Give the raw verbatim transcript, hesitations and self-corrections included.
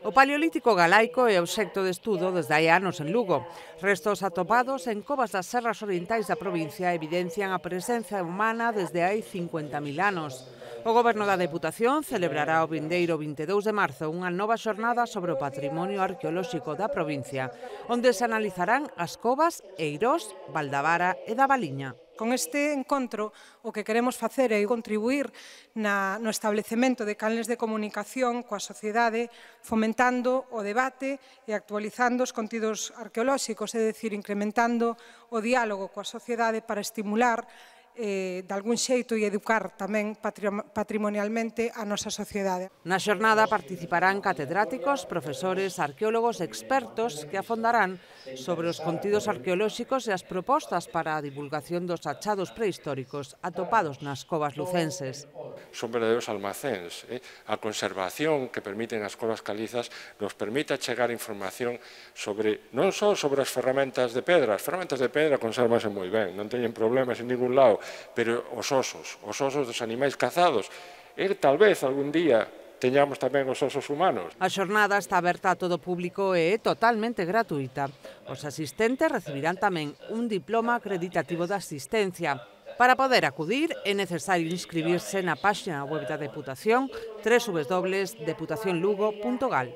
O Paleolítico galaico é obxecto de estudo desde hai anos en Lugo. Restos atopados en covas das serras orientais da provincia evidencian a presenza humana desde hai cincuenta mil anos. O Goberno da Deputación celebrará o vindeiro vinte e dous de marzo unha nova xornada sobre o patrimonio arqueolóxico da provincia, onde se analizarán as covas Eirós, Valdavara e da Valiña. Con este encontro, o que queremos facer é contribuir na, no establecemento de canles de comunicación coa sociedade, fomentando o debate e actualizando os contidos arqueolóxicos, é dicir, incrementando o diálogo coa sociedade para estimular eh, de algún xeito e educar tamén patrimonialmente a nosa sociedade. Na xornada participarán catedráticos, profesores, arqueólogos e expertos que afondarán sobre os contidos arqueolóxicos e as propostas para a divulgación dos achados prehistóricos atopados nas covas lucenses. Son verdadeiros almacéns. Eh? A conservación que permiten as covas calizas nos permite chegar información sobre, non só sobre as ferramentas de pedra, as ferramentas de pedra conservanse moi ben, non teñen problemas en ningún lado, pero os osos, os osos dos animais cazados, e tal vez algún día teñamos tamén os osos humanos. A xornada está aberta a todo público e é totalmente gratuita. Os asistentes recibirán tamén un diploma acreditativo de asistencia. Para poder acudir é necesario inscribirse na páxina web da Deputación doble u doble u doble u punto deputación lugo punto gal.